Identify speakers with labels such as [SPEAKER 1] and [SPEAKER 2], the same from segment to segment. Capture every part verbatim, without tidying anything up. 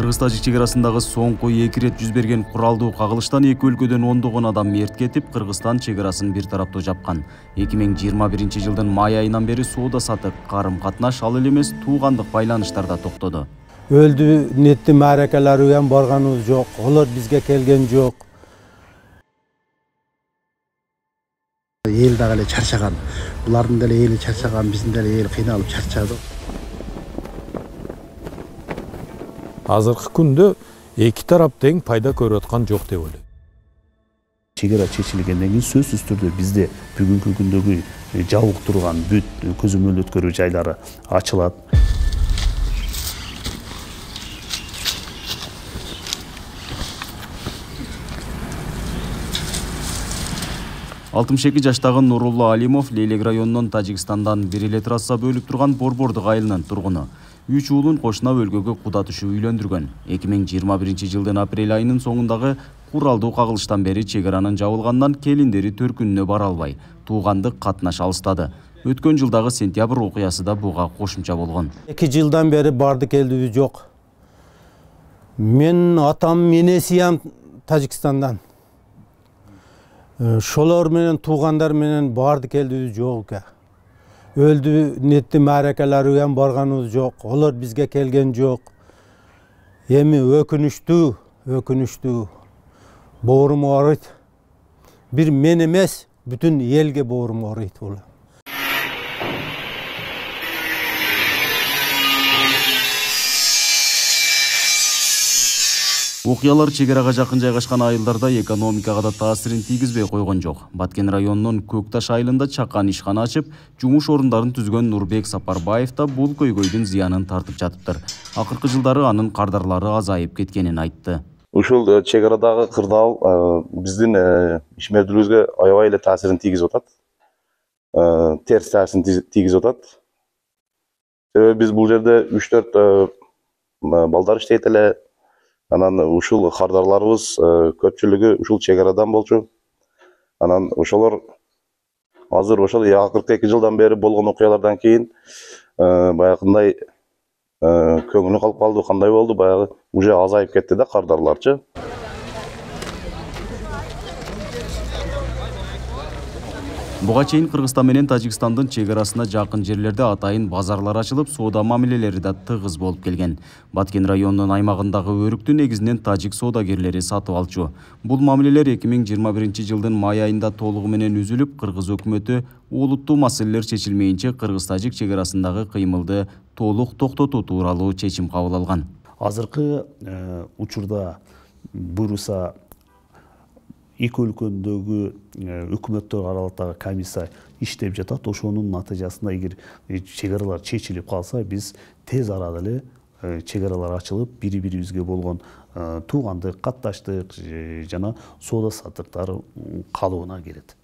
[SPEAKER 1] Кыргыз-Тажик чек арасындагы соңку эки ирет жүз берген куралдуу кагылыштан эки өлкөдөн ондогон адам мерт кетип, Кыргызстан чек арасын бир тараптуу жапкан. эки миң жыйырма биринчи жылдын май айынан бери соода сатык, карым-катнаш ал эле эмес туугандык байланыштар да токтоду.
[SPEAKER 2] Өлдү нетти мааракаларга ham барганыбыз жок, олар бизге келген жок.
[SPEAKER 3] Эл дагы эле чарчаган. Булардын деле эли чарчаган, биздин деле эл кыйналып чарчады.
[SPEAKER 4] Азыркы күндө эки тарап тең пайда көрүп аткан жок деп ойлойм.
[SPEAKER 5] Чек ара чечилгенден кийин сөзсүз түрдө бизде бүгүнкү күндөгү жабык турган бүт көзөмөл өткөрүү жайлары ачылат.
[SPEAKER 1] алтымыш эки жаштагы Нурулла Алимов Лейлек районунун Тажикстандан бир эле трасса бөлүп турган Борбордук айылынын тургуну. Үч уулун кошуна өлкөгө куда түшүп үйлөндүргөн. эки миң жыйырма биринчи жылдын апрель айынын соңундагы куралдуу кагылыштан бери чек аранын жабылгандан келиндери төркүнүнө бара албай, туугандык катнаш алыстады. Өткөн жылдагы сентябрь окуясы да буга кошумча болгон.
[SPEAKER 2] эки жылдан бери барды келдибиз жок. Мен атам энесиям Тажикстандан. Шолор менен туугандар менен барды келдибиз жок экен. Өлдү нетти мааракаларга ham барганыбыз жок. Олар бизге келген жок. Эми өкүнүчтүү, өкүнүчтүү. Боорум ооруйт. Бир мен эмес, бүтүн элге боорум ооруйт бул.
[SPEAKER 1] Окуялар чек арага жакын жайгашкан айылдарда экономикага да таасирин тийгизбей койгон жок. Баткен районунун Көкташ айылында чакан ишкана ачып, жумуш орундарын түзгөн Нурбек Сапарбаев да бул көйгөйдүн зыянын тартып жатыптыр. Акыркы жылдары анын кардарлары азайып кеткенин айтты.
[SPEAKER 6] Ушул чек арадагы кырдаал биздин ишмердүүлүгүбүзгө аябай эле таасирин тийгизип атат. Терс таасирин тийгизип атат. Себеби биз бул жерде үч төрт балдар иштейт эле. Анан ушул кардарларыбыз көпчүлүгү ушул чек арадан болчу. Анан ошолор азыр ошол акыркы эки жылдан бери болгон окуялардан кийин баягындай көңүлү калып калды, кандай болду, баягы уже азайып кетти да кардарларчы.
[SPEAKER 1] Буга чейин Кыргызстан менен Тажикстандын чек арасына жакын жерлерде атайын базарлар ачылып, соода мамилелери да тыгыз болуп келген. Баткен районунун аймагындагы өрүктү негизинен тажик соодагерлери сатып алчу. Бул мамилелер эки миң жыйырма биринчи жылдын май айында толугу менен үзүлүп, Кыргыз өкмөтү олуттуу маселелер чечилмейинче Кыргыз-Тажик чек арасындагы кыймылды толук токтотуу тууралуу чечим кабыл алган.
[SPEAKER 5] Азыркы учурда буйруса эки өлкөдөгү өкмөттөр аралыктагы комиссия иштеп жатат. Ошонун натыйжасында эгер чек аралар чечилип калса, биз тез арада эле чек аралар ачылып, бири-бирибизге болгон туугандык, катташтык жана соода саттыктар калыбына келет.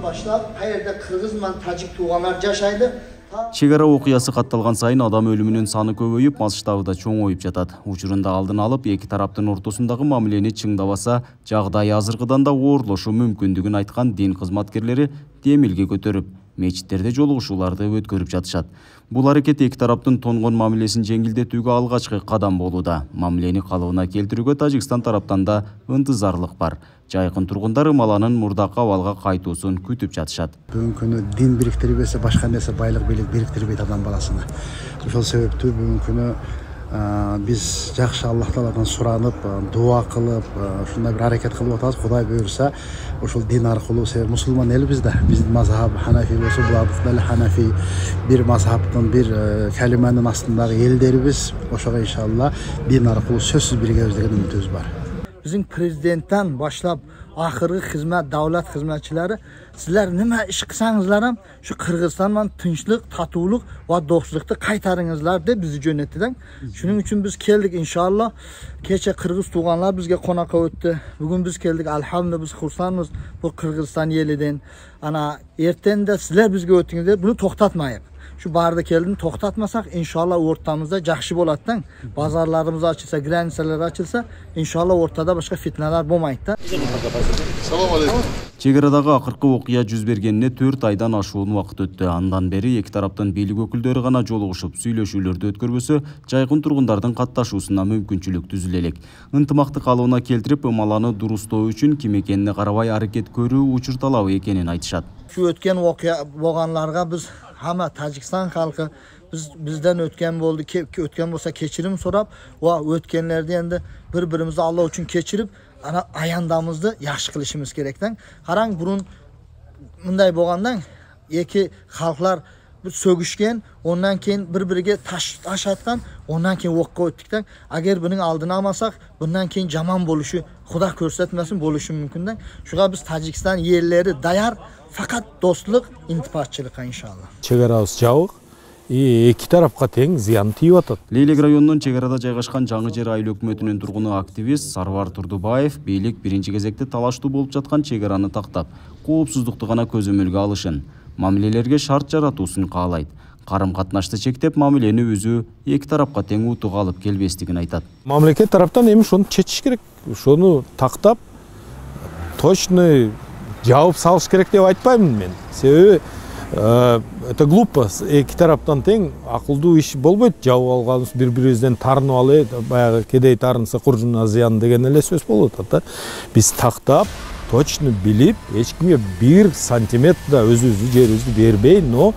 [SPEAKER 7] Başlap, kayerде Kırgız менен Тажик туугандар жашайды.
[SPEAKER 1] Чек ара окуясы катталган сайын адам өлүмүнүн саны көбөйүп, масштабы да чоңоюп жатат. Учурунда алдын алып, эки тараптын ортосундагы мамилени чыңдабаса, жагдай азыркыдан да оорлошу мүмкүндүгүн айткан дин кызматкерлери демилге көтөрүп, мечиттерде жолугушууларды өткөрүп жатышат. Бул аракет эки тараптын тонгон мамилесин жеңилдетүүгө алгачкы кадам болууда. Мамилени калыбына келтирүүгө Тажикстан тараптан да ынтызарлык бар. Жайкын тургундар ымаланын мурдакы абалга кайтуусун күтүп жатышат.
[SPEAKER 3] Бүгүнкү күнү дин бириктирбесе, башка нерсе байлык бийлик бириктирбейт адам баласына. Ошол себептүү бүгүнкү күнү биз жакшы Аллах Тааладан суранып, дуа кылып, ушундай бир аракет кылып атабыз. Кудай буйрса, ошол дин аркылуу себеп мусулман элбиз да. Биздин мазхаб Ханафи болсо, булардыкы деле Ханафи, бир мазхабтын, бир калиманын астындагы элдерибиз. Ошого иншалла дин аркылуу сөзсүз биригебиз деген үмүтүбүз бар.
[SPEAKER 7] bizim prezidentten başlap ahırgı hizmet, davlat hizmetçileri sizler nima iş kılsanızlar ham şu Kırgızstan'dan tinchlik, tatuluk ve dostlukta kaytarыңızlar deb bizi jönettiler. Şunun için biz keldik inşallah. Kecha Kırgız tuğanlar bizge konakka öttü. Bugün biz keldik alhamdulillah biz xursandmiz bu Kırgızstan yeliden. Ana erten de sizler bizge öttüңүздөр, bunu toxtatmayıp. Şu barda keldini toxtatmasak inşallah ortamızda жақшы болаттан. Bazarlarımız açılsa, granisalar açılsa inşallah ortada başka fitneler болмайды да.
[SPEAKER 1] Чек арадагы акыркы окуя жүз бергенине төрт айдан ашуун убакыт өттү. Андан бери эки тараптын бийлик өкүлдөрү гана жолугушуп сүйлөшүүлөрдү өткөрбөсө, жайкын тургундардын катташуусуна мүмкүнчүлүк түзүлө элек. Ынтымакты калыбына келтирип, ымаланы дурустоо үчүн ким экенине карабай аракет көрүү учур талабы экенин айтышат.
[SPEAKER 7] Şu ötken okya болганларга biz hamma Tajikistan halkı biz bizden ötken boldu ki ötken bolsa keçirim sorap va ötkenlerdi endi bir-birimizi Allah üçün keçirip ana ayandamızды yaxşı kılışımız gerekten. Qarang burun mınday bolgandan eki halklar bir sögüşken, ondan keyin bir-biriga taş taş atkan, ondan keyin okka ötdikten. Agar buning aldını almasak, bundan keyin jaman boluşu Xudo ko'rsatmasin bo'lishi mumkindan. Shuga biz Tojikiston yerleri dayar, fakat dostluk, intipatçılıkka inşallah.
[SPEAKER 4] Чек арабыз жабык, эки тарапка тең зыян тийип атат.
[SPEAKER 1] Лейлек районунун чек арада жайгашкан Жаңы Жер айыл өкмөтүнүн тургуну активист Сарвар Турдубаев бийлик биринчи кезекте талаштуу болуп жаткан чек араны тактап, коопсуздукту гана көзөмөлгө алышын, мамилелерге шарт жаратуусун каалайт. Карым катнашты чектеп, мамилени өзү эки тарапка тең утуга алып келбестигин айтат.
[SPEAKER 4] Мамлекет тараптан эми ошону чечиш керек. Ошону тактап, точно жаап салыш керек деп айтпаймын мен. Себеби это глупо. Эки тараптан тең акылдуу иш болбойт. Жаап алганыбыз бири-бирибизден тарынып алып, баягы кедей тарынса куржуна зыян деген эле сөз болуп атат да. Биз тактап, точно билип, эч кимге бир сантиметр да өзүбүздүн жерибизди бербей, но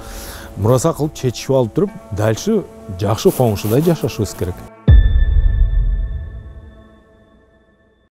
[SPEAKER 4] мураса кылып чечип алып туруп, дальше жакшы коңшудай жашашыбыз керек.